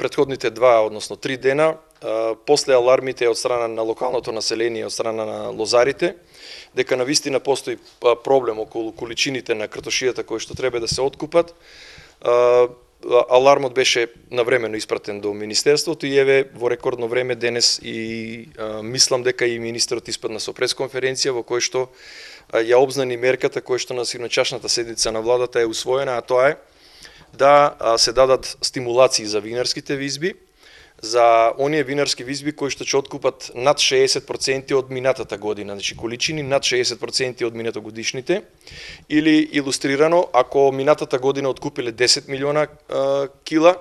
претходните 2, односно 3 дена, после алармите од страна на локалното население, од страна на лозарите, дека навистина постои проблем околу количините на картошијата кои што треба да се откупат. Алармот беше навремено испратен до Министерството и еве во рекордно време денес и мислам дека и министерот испадна со пресконференција во кој што ја обзнани мерката која што на синочашната седница на владата е усвоена, а тоа е да се дадат стимулации за винарските визби, за оние винарски визби кои што ќе откупат над 60% од минатата година, значи количини над 60% од минатогодишните, или илустрирано, ако минатата година откупиле 10 милиона кила,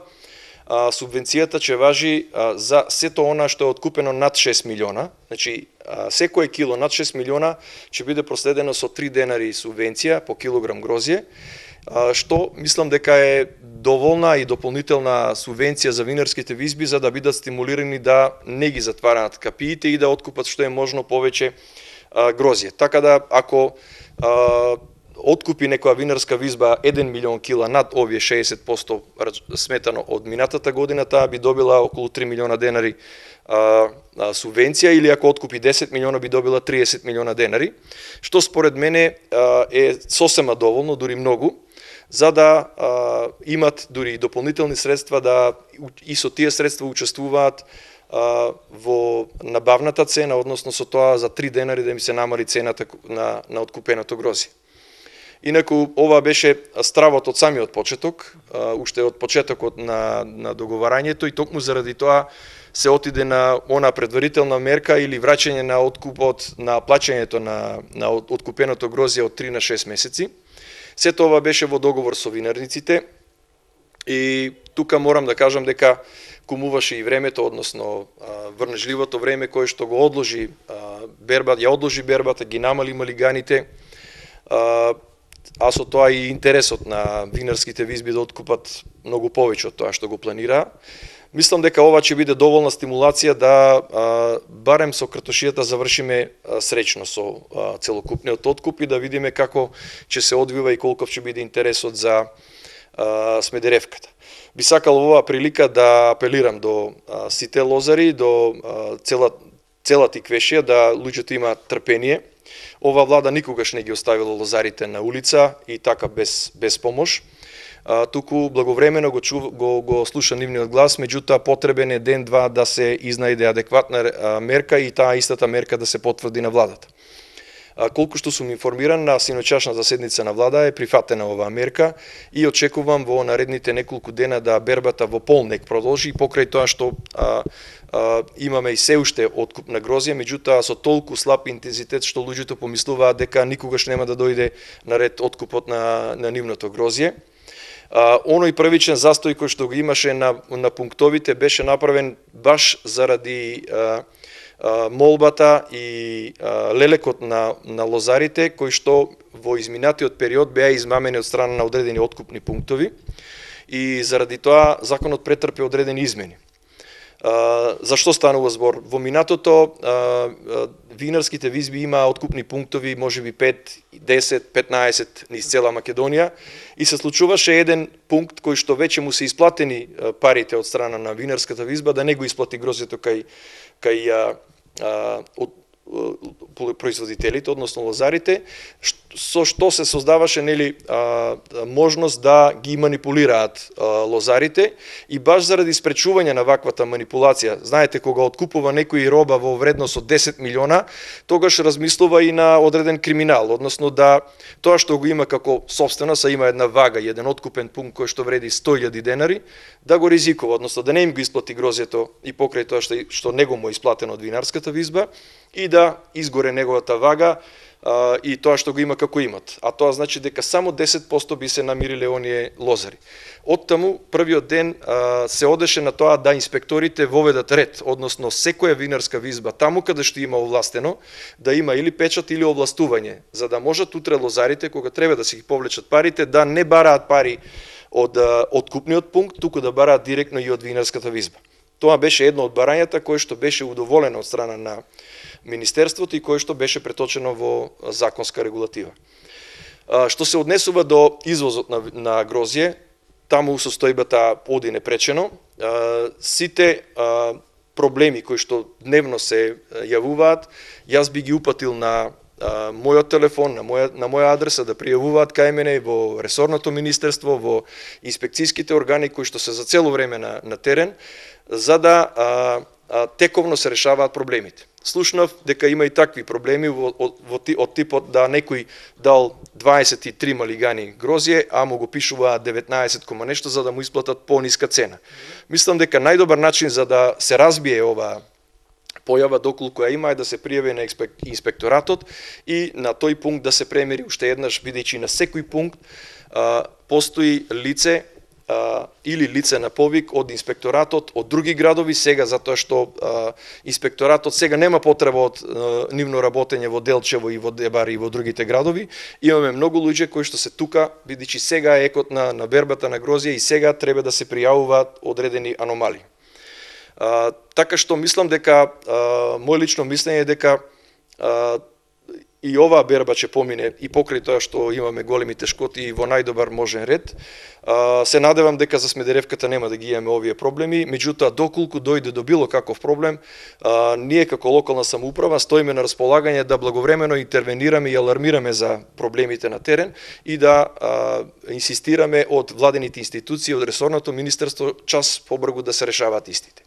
субвенцијата ќе важи за сето она што е откупено над 6 милиона, значи секој кило над 6 милиона ќе биде проследено со 3 денари субвенција по килограм грозје, што мислам дека е доволна и дополнителна субвенција за винарските визби за да бидат стимулирани да не ги затвараат капиите и да откупат што е можно повеќе грозје. Така да ако откупи некоја винарска визба 1 милион кила над овие 60% сметано од минатата година, таа би добила околу 3 милиона денари субвенција, или ако откупи 10 милиона би добила 30 милиона денари, што според мене е сосема доволно, дури многу, за да имат дури дополнителни средства да и со тие средства учествуваат во набавната цена, односно со тоа за 3 денари да им се намали цената на откупеното грозје. Инаку ова беше стравот од самиот почеток, уште од почетокот на договарањето, и токму заради тоа се отиде на она предварителна мерка или враќање на откупот, на плаќањето на откупеното грозје од 3 на 6 месеци. Сето ова беше во договор со винарниците и тука морам да кажам дека кумуваше и времето, односно врнежливото време кое што го одложи бербата, ги намали малиганите, а со тоа и интересот на винарските визби да откупат многу повеќе од тоа што го планираа. Мислам дека ова ќе биде доволна стимулација да барем со картошијата завршиме среќно со целокупниот откуп и да видиме како ќе се одвива и колков ќе биде интересот за Смедеревката. Би сакал оваа прилика да апелирам до сите лозари, до целата Иквешија, да луѓето имаат трпение. Ова влада никогаш не ги оставила лозарите на улица и така без помош. Туку благовремено го слуша нивниот глас, меѓутоа потребен е ден-два да се изнајде адекватна мерка и таа истата мерка да се потврди на владата. Колку што сум информиран, на синочашната седница на влада е прифатена оваа мерка и очекувам во наредните неколку дена да бербата во полнек продолжи и покрај тоа што имаме и се уште откуп на грозје, меѓутоа со толку слаб интензитет што луѓето помислуваат дека никогаш нема да дојде на ред откупот на нивното грозје. Оној првичен застој кој што го имаше на пунктовите беше направен баш заради молбата и лелекот на лозарите кои што во изминатиот период беа измамени од страна на одредени откупни пунктови и заради тоа законот претрпе одредени измени. Зашто станува збор? Во минатото винарските визби има откупни пунктови, можеби 5, 10, 15 низ цела Македонија и се случуваше еден пункт кој што веќе му се исплатени парите од страна на винарската визба да не го исплати грозјето кај производителите, односно лозарите, со што се создаваше можност да ги манипулираат лозарите и баш заради спречување на ваквата манипулација. Знаете, кога откупува некој роба во вредност од 10 милиона, тогаш размислува и на одреден криминал, односно да тоа што го има како собственост, а има една вага, еден откупен пункт кој што вреди 100.000 денари, да го ризикува, односно да не им го исплати грозјето и покрај тоа што него му е исплатено од винарската визба и да изгоре неговата вага и тоа што го има како имат. А тоа значи дека само 10% би се намириле оние лозари. Оттаму првиот ден се одеше на тоа да инспекторите воведат ред, односно секоја винарска визба таму каде што има овластено да има или печат или овластување, за да можат утре лозарите кога треба да си ги повлечат парите да не бараат пари од откупниот пункт, туку да бараат директно и од винарската визба. Тоа беше едно од барањата кое што беше удоволено од страна на Министерството и кое што беше преточено во законска регулатива. Што се однесува до извозот на грозје, таму состојбата оди непречено. Сите проблеми кои што дневно се јавуваат, јас би ги упатил на мојот телефон, на моја адреса да пријавуваат кај мене во ресорното министерство, во инспекцијските органи кои што се за цело време на терен, за да тековно се решаваат проблемите. Слушнав дека има и такви проблеми од типот да некој дал 23 малигани грозје, а му го пишуваат 19 кома нешто за да му исплатат пониска цена. Мислам дека најдобар начин за да се разбие ова појава доколку ја има е да се пријави на инспекторатот и на тој пункт да се премери уште еднаш, бидејќи на секој пункт постои лице или лице на повик од инспекторатот од други градови сега, затоа што инспекторатот сега нема потреба од нивно работење во Делчево и во Дебари и во другите градови. Имаме многу луѓе кои што се тука, бидејќи сега е екот на бербата на грозје и сега треба да се пријавуваат одредени аномалии. Така што мислам дека, мој лично мислење е дека и оваа берба ќе помине и покрај тоа што имаме големи тешкоти во најдобар можен ред. Се надевам дека за Смедеревката нема да ги имаме овие проблеми, меѓутоа доколку дојде до било каков проблем, ние како локална самоуправа стоиме на располагање да благовремено интервенираме и алармираме за проблемите на терен и да инсистираме од владените институции, од ресорното министерство час побрзо да се решаваат истите.